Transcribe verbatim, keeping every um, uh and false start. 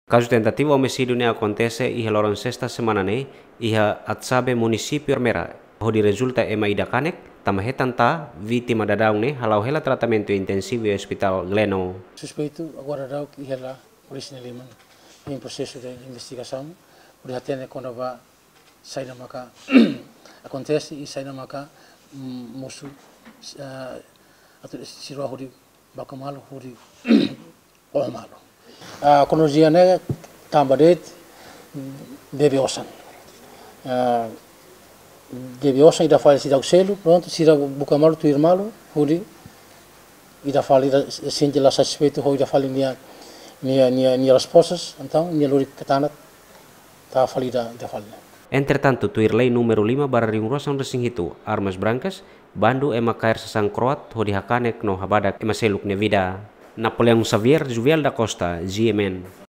Kazu tentativa omisídiu ne'e akontese iha loron sesta semana ne'e, iha Atsabe, munisípiu Ermera, hodi rezulta ema ida kanek, tanba hetan tan vítima daudaun ne'e hala'o hela tratamentu intensivu iha Hospital Gleno. Suspeitu agora daudaun iha polísia nia liman, em processo de investigação, hodi hatene kona-ba saida maka akontese i saida maka, mm, mosu, ah, atu sira hodi baku malu, hodi oho malu. Ah, kronolojia ne'e tanba de'it, mm, bebe osan. Ah, bebe osan, ida fali seidauk selu, prontu, sira buka malu, tuir malu, hodi ida fali, ida sente la satisfeitu ho ida fali nia, nia, nia, nia respostas, entaun nia lori katanak, tau fali ida, ida fali. Entretantu, tuir lei númeru lima barra rihun rua sanulu-resin-hitu, armas brancas, bandu ema kaer sasán kroat hodi hakanek no habadak ema seluk nia vida. Napoleão Xavier, Juvial da Costa, G M N.